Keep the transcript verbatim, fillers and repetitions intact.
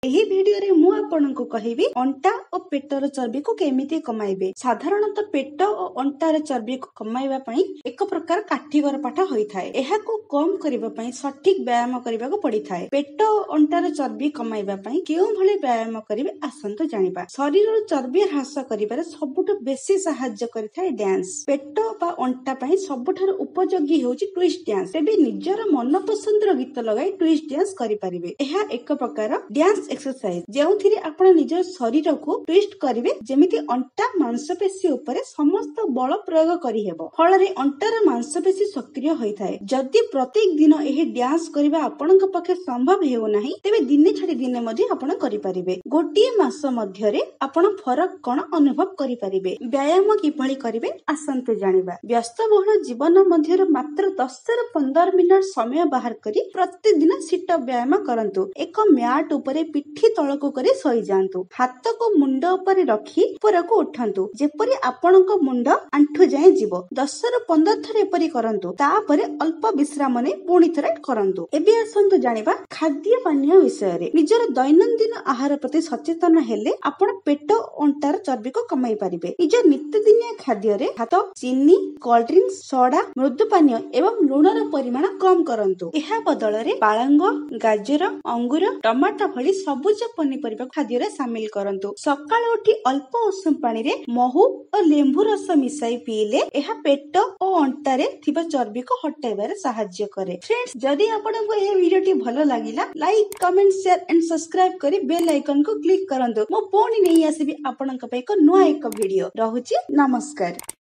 ଏହି ଭିଡିଓରେ ମୁଁ ଆପଣଙ୍କୁ କହିବି ଅଣ୍ଟା ଓ ପେଟର ଚର୍ବିକୁ କେମିତି କମାଇବେ। ସାଧାରଣତଃ ପେଟ ଓ ଅଣ୍ଟାର ଚର୍ବିକୁ କମାଇବା ପାଇଁ ଏକ ପ୍ରକାର କାଠିକର ପାଠ ହୋଇଥାଏ। ଏହାକୁ କମ କରିବା ପାଇଁ ସଠିକ ବ୍ୟାୟାମ କରିବାକୁ ପଡିଥାଏ। ପେଟ ଓ ଅଣ୍ଟାର ଚର୍ବି କମାଇବା ପାଇଁ କେଉଁଭଳି ବ୍ୟାୟାମ କରିବେ, ଆସନ୍ତୁ ଜାଣିବା। ଶରୀରର ଚର୍ବି ହ୍ରାସ କରିବାରେ ସବୁଠୁ ବେଶୀ ସାହାଯ୍ୟ କରିଥାଏ ଡ୍ୟାନ୍ସ। ପେଟ ବା ଅଣ୍ଟା ପାଇଁ ସବୁଠାରୁ ଉପଯୋଗୀ ହେଉଛି ଟୁଇଷ୍ଟ ଡ୍ୟାନ୍ସ। ତେବେ ନିଜର ମନ ପସନ୍ଦର ଗୀତ ଲଗାଇ ଟୁଇଷ୍ଟ ଡ୍ୟାନ୍ସ କରିପାରିବେ। ଏହା ଏକ ପ୍ରକାର ଡ୍ୟାନ୍ସ ଏକ୍ସରସାଇଜ, ଯେଉଁଥିରେ ଆପଣ ନିଜ ଶରୀରକୁ ଟୁଇଷ୍ଟ କରିବେ, ଯେମିତି ଅଣ୍ଟା ମାଂସପେଶୀ ଉପରେ ସମସ୍ତ ବଳ ପ୍ରୟୋଗ କରିହେବ। ଫଳରେ ଅଣ୍ଟାର ମାଂସପେଶୀ ସକ୍ରିୟ ହୋଇଥାଏ। ଯଦି ପ୍ରତ୍ୟେକ ଦିନ ଏହି ଡ୍ୟାନ୍ସ କରିବା ଆପଣଙ୍କ ପକ୍ଷେ ସମ୍ଭବ ହେଉନାହିଁ, ତେବେ ଦିନେ ଛାଡି ଦିନେ ମଧ୍ୟ ଆପଣ କରିପାରିବେ। ଗୋଟିଏ ମାସ ମଧ୍ୟରେ ଆପଣ ଫରକ କଣ ଅନୁଭବ କରିପାରିବେ। ବ୍ୟାୟାମ କିଭଳି କରିବେ, ଆସନ୍ତୁ ଜାଣିବା। ବ୍ୟସ୍ତବହୁଳ ଜୀବନ ମଧ୍ୟରୁ ମାତ୍ର ଦଶରୁ ପନ୍ଦର ମିନିଟ ସମୟ ବାହାର କରି ପ୍ରତିଦିନ ସିଟଅପ୍ ବ୍ୟାୟାମ କରନ୍ତୁ। ଏକ ମ୍ୟାଟ ଉପରେ ପିଠି ତଳକୁ କରି ଶୋଇଯାଆନ୍ତୁ। ହାତକୁ ମୁଣ୍ଡ ଉପରେ ରଖି ଉପରକୁ ଉଠନ୍ତୁ, ଯେପରି ଆପଣଙ୍କ ମୁଣ୍ଡ ଆଣ୍ଠୁ ଯାଏଁ ଯିବ। ଦଶରୁ ପନ୍ଦର ଥର ଏପରି କରନ୍ତୁ। ତାପରେ ଅଳ୍ପ ବିଶ୍ରାମ ନେଇ ପୁଣି ଥରେ କରନ୍ତୁ। ଏବେ ଆସନ୍ତୁ ଜାଣିବା ଖାଦ୍ୟ ପାନୀୟ ବିଷୟରେ। ନିଜର ଦୈନନ୍ଦିନ ଆହାର ପ୍ରତି ସଚେତନ ହେଲେ ଆପଣ ପେଟ ଅଣ୍ଟାର ଚର୍ବିକୁ କମାଇ ପାରିବେ। ନିଜ ନିତିଦିନିଆ ଖାଦ୍ୟରେ ଭାତ, ଚିନି, କୋଲ୍ଡ ଡ୍ରିଙ୍କସ, ସୋଡା, ମୃଦୁ ପାନୀୟ ଏବଂ ଲୁଣର ପରିମାଣ କମ କରନ୍ତୁ। ଏହା ବଦଳରେ ପାଳଙ୍ଗ, ଗାଜର, ଅଙ୍ଗୁର, ଟମାଟୋ ଭଳି ସବୁଜ ପନିପରିବା ଖାଦ୍ୟରେ ସାମିଲ କରନ୍ତୁ। ସକାଳୁ ଉଠି ଅଳ୍ପ ଉଷୁମ ପାଣିରେ ମହୁ ଓ ଲେମ୍ବୁ ରସ ମିଶାଇ ପିଇଲେ ଏହା ପେଟ ଓ ଅଣ୍ଟାରେ ଥିବା ଚର୍ବିକୁ ହଟାଇବାରେ ସାହାଯ୍ୟ କରେ। ଫ୍ରେଣ୍ଡସ୍, ଯଦି ଆପଣଙ୍କୁ ଏହି ଭିଡିଓଟି ଭଲ ଲାଗିଲା, like, comment, share and subscribe କରି ବେଲ୍ ଆଇକନକୁ କ୍ଲିକ୍ କରନ୍ତୁ। ମୁଁ ପୁଣି ନେଇ ଆସିବି ଆପଣଙ୍କ ପାଇଁ ଏକ ନୂଆ ଏକ ଭିଡିଓ। ରହୁଛି, ନମସ୍କାର।